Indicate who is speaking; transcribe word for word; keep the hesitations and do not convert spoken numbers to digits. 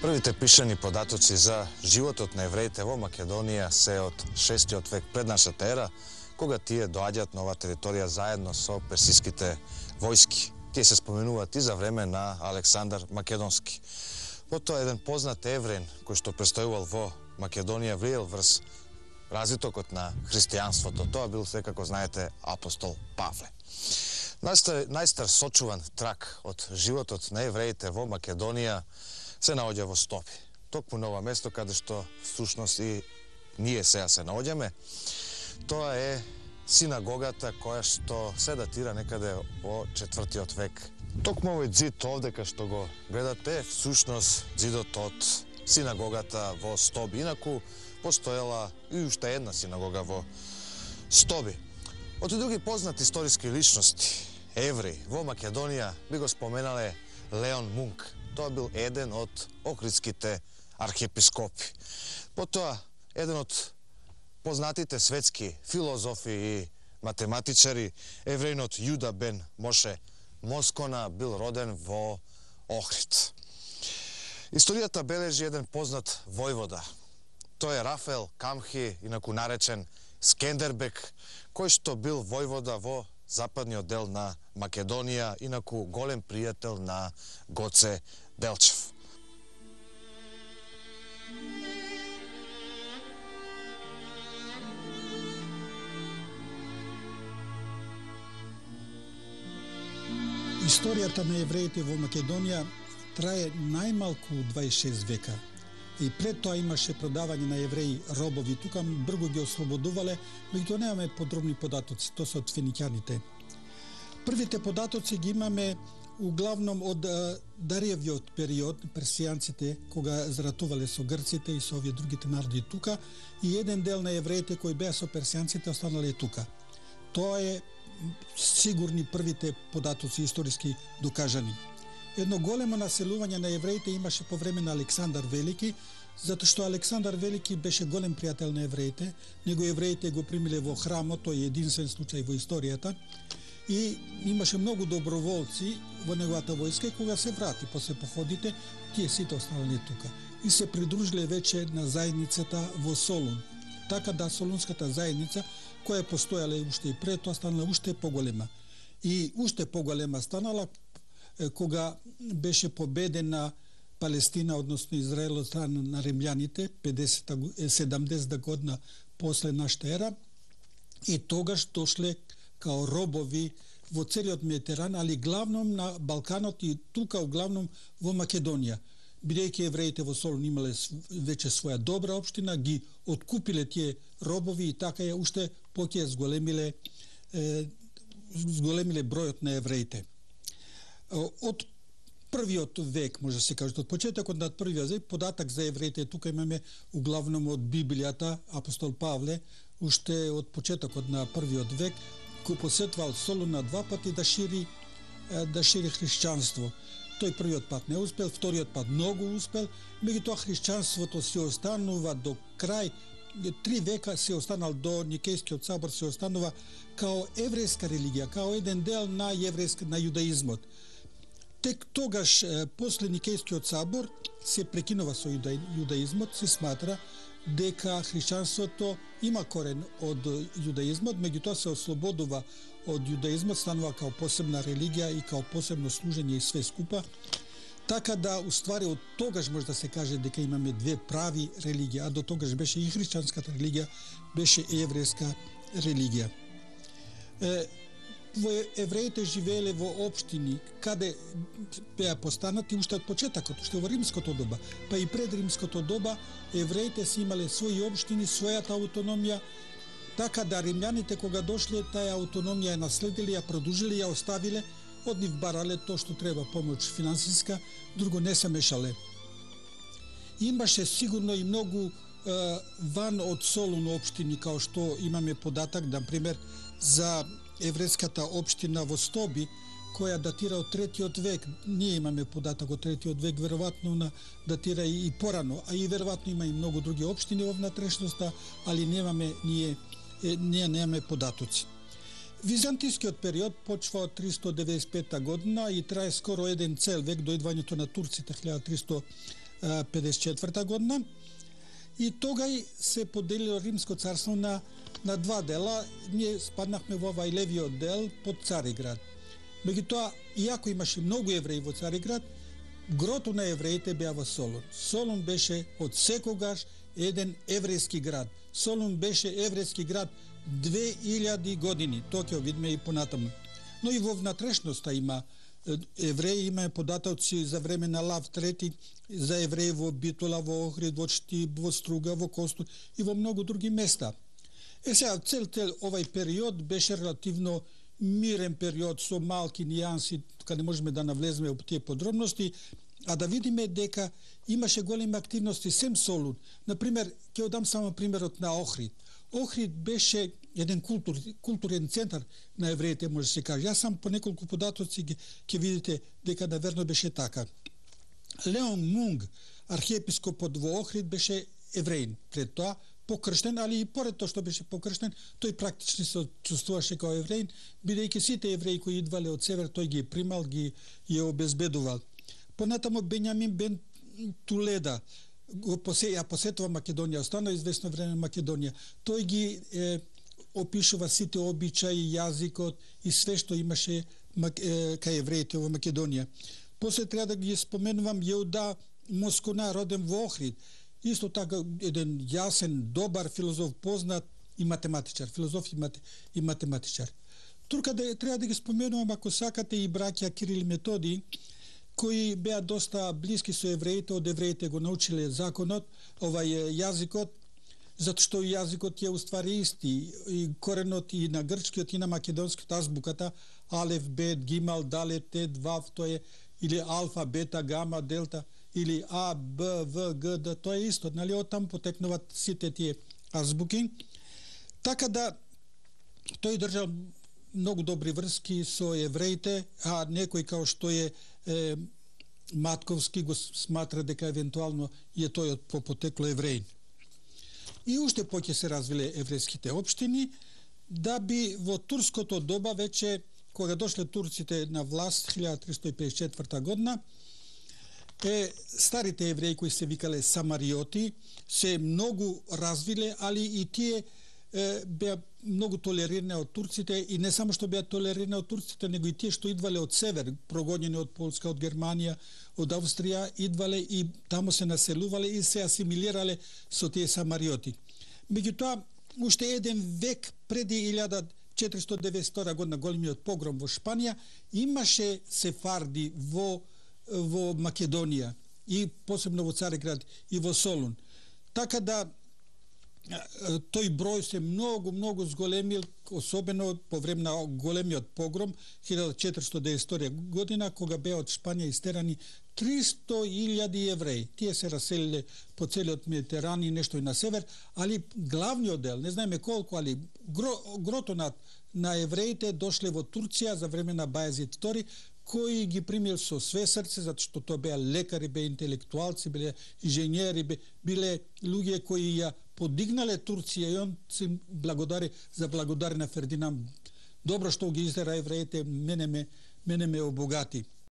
Speaker 1: Првите пишани податоци за животот на евреите во Македонија се од шестиот век пред нашата ера, кога тие доаѓаат на оваа територија заедно со персиските војски. Тие се споменуваат и за време на Александар Македонски. Потоа еден познат евреин кој што престојувал во Македонија влиел врз развитокот на христијанството. Тоа бил, секако знаете, апостол Павле. Најстар, најстар сочуван трак од животот на евреите во Македонија се наоѓа во Стоби. Токму на ова место каде што всушност и ние сега се наоѓаме. Тоа е синагогата која што се датира некаде во четвртиот век. Токму овој ѕид овде кај што го гледате, всушност ѕидот од синагогата во Стоби. Инаку постоела и уште една синагога во Стоби. Од други познати историски личности, евреи во Македонија, би го споменале Леон Мунк. Тоа бил еден од охридските архиепископи. Потоа, еден од познатите светски филозофи и математичари, евреинот Јуда бен Моше Москона, бил роден во Охрид. Историјата бележи еден познат војвода. Тој е Рафаел Камхи, инаку наречен Скендербек, кој што бил војвода во западниот дел на Македонија, инаку голем пријател на Гоце Делчев.
Speaker 2: Историјата на евреите во Македонија трае најмалку дваесет и шест века. И пред тоа имаше продавање на евреи робови. Тука брзо ги ослободувале, меѓутоа немаме подробни податоци, тоа се од финикјаните. Првите податоци ги имаме углавном од Дариевиот период, персијанците, кога заратувале со грците и со овие другите народи тука, и еден дел на евреите кои беа со персијанците останале тука. Тоа е сигурни првите податоци историски докажани. Едно големо населување на евреите имаше по време на Александар Велики, затоа што Александар Велики беше голем пријател на евреите, него евреите го примиле во храмот, тој е единствен случај во историјата, и имаше многу доброволци во неговата војска и кога се врати после походите, тие сите останале тука и се придружиле веќе на заедницата во Солун. Така да солунската заедница, која постојала уште и пред тоа, станала уште поголема. И уште поголема станала кога беше победена Палестина, односно Израел од страна на римљаните, седамдесета година после нашата ера, и тогаш дошле као робови во целиот Медитеран, али главном на Балканот и тука главном во Македонија. Бидејќи евреите во Солун имале веќе своја добра општина, ги откупиле тие робови и така ја уште поќе зголемиле, е, зголемиле бројот на евреите. Од првиот век, може да се каже, од почетокот на првиот век, податок за евреите тука имаме углавном од Библијата, апостол Павле, уште од почетокот на првиот век, кој посетвал Солун на два пати да шири, да шири христијанство. Тој првиот пат не успел, вториот пат многу успел, меѓутоа христијанството се останува до крај, три века се останал до Никејскиот собор, се останува као еврејска религија, као еден дел на еврејска, на јудаизмот. Тек тогаш, после Никејскиот собор, се прекинува со јудаизмот, се сматра дека христијанството има корен од јудаизмот, меѓутоа се ослободува од јудаизмот, станува као посебна религија и као посебно служење и све скупа. Така да, уствари, од тогаш може да се каже дека имаме две прави религии, а до тогаш беше и христијанската религија, беше и еврејска религија. Е, во евреите живееле во општини каде беа постанати уште од почетокот, уште во римското доба, па и пред римското доба евреите си имале своји општини, својата аутономија, така да римјаните кога дошле таа аутономија ја наследиле, ја продолжили, ја оставиле, од нив барале тоа што треба, помош финансиска, друго не се мешале. Имаше сигурно и многу е, ван од Солун општини, као што имаме податок, например, за еврејската општина во Стоби, која датира од третиот век. Ние имаме податок од третиот век, веројатно на датира и, и порано, а и веројатно има и многу други општини во внатрешноста, али немаме ние е, ние немаме податоци. Византискиот период почва од триста деветдесет и пета година и трае скоро еден цел век до идвањето на турците хиljada триста педесет и четврта година. И тогај се поделило Римско царство на, на два дела. Ние спаднахме во овај левиот дел под Цариград. Меѓутоа, иако имаше многу евреи во Цариград, грото на евреите беа во Солун. Солун беше од секогаш еден еврејски град. Солун беше еврејски град две илјади години. Тоа ќе видиме и понатаму. Но и во внатрешноста има евреи, има податоци за време на Лав трети, за евреи во Битола, во Охрид, во Чти, во Струга, во Костур и во многу други места. Е сега, цел цел овај период беше релативно мирен период со малки нијанси, каде можеме да навлеземе во тие подробности, а да видиме дека имаше големи активности сем Солун. Например, ќе дам само примерот на Охрид. Охрид беше еден култур, културен центар на евреите, може да се каже. Јас сам по неколку податоци ќе видите дека наверно беше така. Леон Мунг, архиепископот во Охрид, беше евреин. Пред тоа покрштен, али и поред тоа што беше покрштен, тој практично се чувствуваше како евреин, бидејќи сите евреи кои идвале од север, тој ги примал, ги ја обезбедувал. Понатамо Бенјамин бен Туледа го посе, ја посетува Македонија, остана известно време Македонија. Тој ги е, опишува сите обичаи, јазикот и све што имаше е, кај евреите во Македонија. После треба да ги споменувам Јеуда Москона, роден во Охрид. Исто така еден јасен, добар филозоф, познат и математичар, филозоф и, мат, и математичар. Турка да треба да ги споменувам, ако сакате, и браќа Кирил и Методи, кои беа доста блиски со евреите, од евреите го научиле законот, овај јазикот, затоа што јазикот е уствари исти, и коренот и на грчкиот и на македонскиот, азбуката, алеф, бет, гимал, далет, тет, вав, тоа е, или алфа, бета, гама, делта, или А, Б, В, Г, Д, тоа е исто, нали, оттам потекнуваат сите тие азбуки. Така да, тој држал многу добри врски со евреите, а некој као што е, е Матковски го сматра дека евентуално е тој од по потекло евреин. И уште поќе се развиле еврејските општини, да би во турското доба веќе, кога дошле турците на власт илјада триста и педесет и четврта година, е, старите евреи кои се викале самариоти се многу развиле, али и тие е, беа многу толерирани од турците, и не само што беа толерирани од турците, него и тие што идвале од север, прогонени од Полска, од Германија, од Австрија, идвале и тамо се населувале и се асимилирале со тие самариоти. Меѓутоа, уште еден век преди илјада четиристотини деветдесет и втора година, големиот погром во Шпанија, имаше сефарди во во Македонија и посебно во Цариград и во Солун. Така да тој број се многу, многу зголемил, особено по време на големиот погром илјада четиристотини деветдесет и втора година, кога беа од Шпанија истерани триста илјади евреи. Тие се раселиле по целиот Медитеран и нешто и на север, али главниот дел, не знаеме колку, али гро, грото на, на евреите дошле во Турција за време на Бајазид втори, кои ги примил со све срце, затоа што тоа беа лекари, беа интелектуалци, биле инженери, биле луѓе кои ја подигнале Турција, и он се благодари за благодари на Фердинанд. Добро што ги издера евреите, мене ме, мене ме обогати.